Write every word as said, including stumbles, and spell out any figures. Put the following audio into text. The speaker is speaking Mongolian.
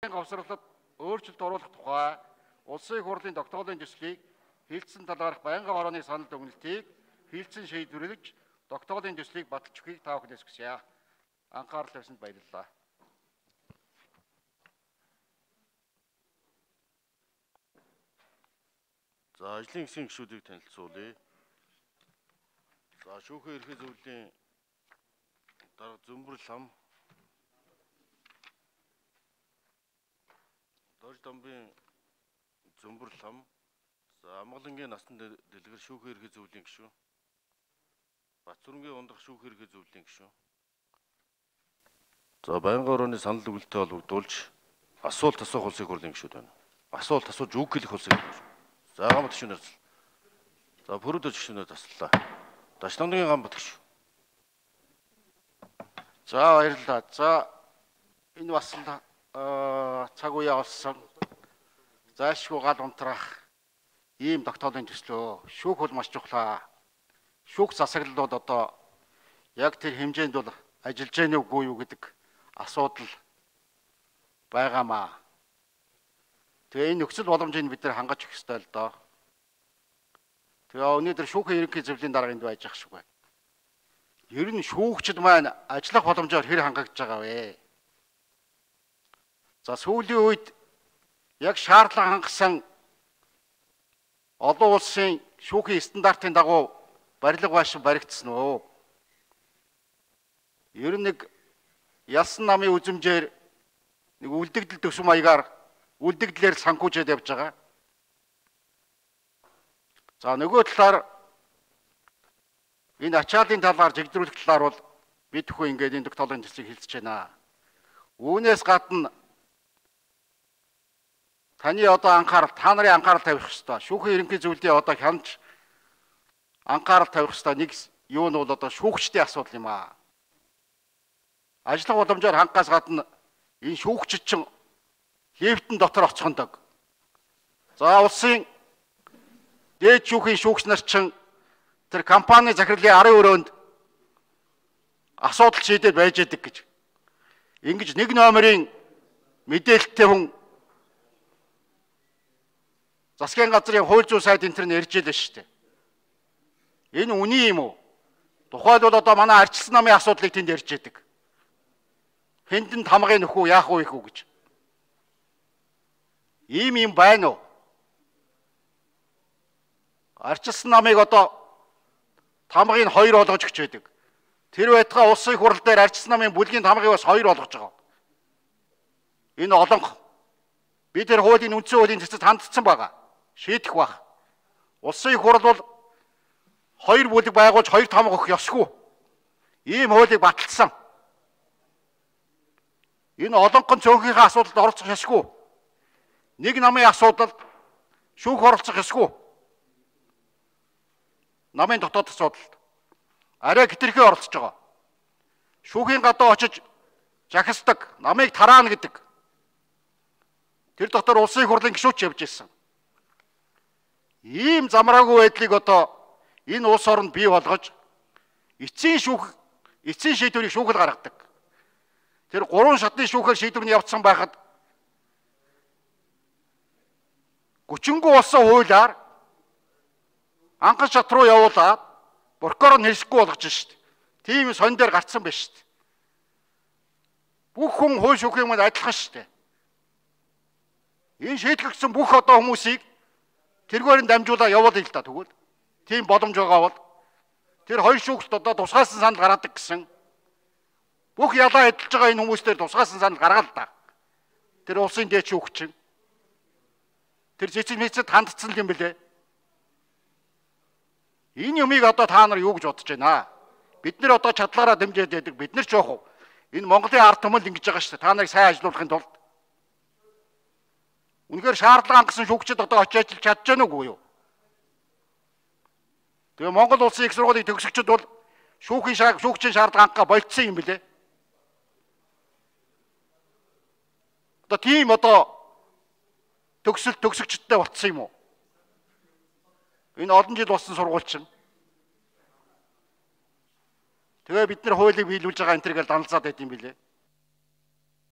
Говсралд өөрчлөлт оруулах тухай улсын хурлын тогтоолын төслийг хилцэн талаарх байнгын хорооны санал дүгнэлтийг хилцэн шийдвэрлэж тогтоолын төслийг баталж өгөхийг та бүхнээс хүсье. Анхаарал тавьсанд баярлалаа. За ажлын хэсгийн гишүүдийг танилцуулъя. За шүүхийн ерхий зөвлөлийн дарга Зөмбөр лам, Дорж дамбын Зөмбөр лам, за Амгалангийн насан дэлгэр шүүхийн ерхий зөвлөлийн гишүүн, Бацүрэнгийн ундах шүүхийн ерхий зөвлөлийн гишүүн. За байнгын хорооны санал дүгнэлтээ холбогдуулж асуулт асуух улсын хурлын гишүүд байна. Асуулт асууж үг хэлэх улсын гишүүд. За гамбат гишүүнээр засал. За Пүрүдэж гишүүнээр заслаа. Дачлангийн гамбат гишүү. За баярлалаа. За энэ бас л цаг үе болсон. Зайлшгүй гал унтрах ийм тогтоолын төслөө. Шүүх бол маш чухлаа. Шүүх засаглалууд одоо яг тэр хэмжээнд бол ажиллаж гэнэ үгүй юу гэдэг асуудал байгаамаа. Тэгээ энэ нөхцөл боломжийг бид нар хангаж өгөх ёстой л доо. Тэгээ өнөөдөр шүүхийн ерөнхий зөвлөлийн дарга энд байж ах шиг байна. Ер нь шүүгчд маань ажиллах боломжоор хэр хангагдж байгаа вэ? За сүүлийн үед яг шаардлага хангасан олон улсын шүүхийн стандартын дагуу барилга байшин баригдсан уу? Ер нь нэг ялсан намын үзмжээр нэг үлдэгдэл төсөв маягаар үлдэгдлээр санхүүжээд явж байгаа. За нөгөө талаар энэ ачааллын талаар жигдрүүлэх талаар бол бид бүхэн ингээд энэ тогтоолын төслийг хэлцэж байна. Үүнээс гадна таны одоо анхаарал, та нарын анхаарал тавих ёстой. Шүүхийн ерөнхий зөвлөлийн одоо хянаж анхаарал тавих ёстой нэг юу нь бол одоо шүүгчдийн асуудал юм аа. Ажиллах боломжоор хангахаас гадна энэ шүүгчид чинь лифтэн дотор очихондог. За улсын дээд шүүхийн шүүгч нар чинь тэр компани захирлын арын өрөөнд асуудал шийдээд байж яадаг гэж. Ингэж нэг номерын мэдээлэлтэй хүн засгийн газрын хууль зүйн сайд энэ төр нэрж ялээ шүү дээ. Энэ үний юм уу? Тухайлбал одоо манай арчилсан намын асуудлыг тэнд ярьж яадаг. Хэндэн тамгын нөхөө яах вэ хүү гэж. Ийм юм байна уу? Арчилсан намыг одоо тамгыг хоёр болгож өгч байдаг. Тэр байтугай улсын хурал дээр арчилсан намын бүлгийн тамгыг бас хоёр болгож байгаа. Энэ олонх би тэр хуулийн үндсэн хуулийн цэцэд хандсан байгаа. Шийдэх баг. Улсын хурал бол хоёр бүлэг байгуулж хоёр тамга өгөх ёсгүй. Ийм хуулийг баталсан. Энэ олонхын цөөнхийнхээ асуудалд оролцох ёсгүй. Нэг намын асуудалд шүүх оролцох ёсгүй. Намын дотоод асуудалд арай хэтэрхий оролцож байгаа. Шүүхийн гадаа очиж жахисдаг, намыг тараана гэдэг. Тэр дотор улсын хурлын гишүүч явж ирсэн. Ийм замраагүй байдлыг одоо энэ улс оронд бий болгож эцсийн шүүх, эцсийн шийдвэрийг шүүхэл гаргадаг. Тэр гурван шатны шүүхээр шийдвэрний явцсан байхад гүчингүү болсон хуулиар анхан шат руу явуулаад прокурор нь хэлэхгүй болгож шít. Тийм сон дээр гарцсан байна шít. Бүх хүн хууль шүүхийн юмд адилхан шít. Энэ шийдэгдсэн бүх одоо хүмүүсийг тэргээр нь дамжуулаад явуулъя л да тэгвэл. Тийм боломж байгаа бол тэр хоёр шүүгчд одоо тусгаалсан санал гаргадаг гэсэн. Бүх ялаа эдэлж байгаа энэ хүмүүстээр тусгаалсан санал гаргаад л да. Тэр улсын дээд шүүгч. Тэр цэцэн мэцэд хандцсан юм бэлээ. Энэ юмыг одоо та нар юу гэж бодож байна? Бид нэр одоо чадлаараа дэмжиж байдаг. Бид нар ч яах вэ? Энэ Монголын ард түмэл ингэж байгаа шүү дээ. Та нарыг сайн ажилуулахын тулд. Үнэхээр шаардлага хангасан шүүгчид одоо очиж ажиллаж чадж байна уу юу? Тэгээ Монгол улсын их сургуулийн төгсөгчд бол шүүхийн шаа шүүгчийн шаардлага хангахаа болцсон юм бэлээ. Одоо тийм одоо төгсөл төгсөгчдтэй болцсон юм уу? Энэ олон жил болсон сургуульчин. Тэгээ бид нар хуулийг биелүүлж байгаа энэ төргээл даналзаад байт юм билээ.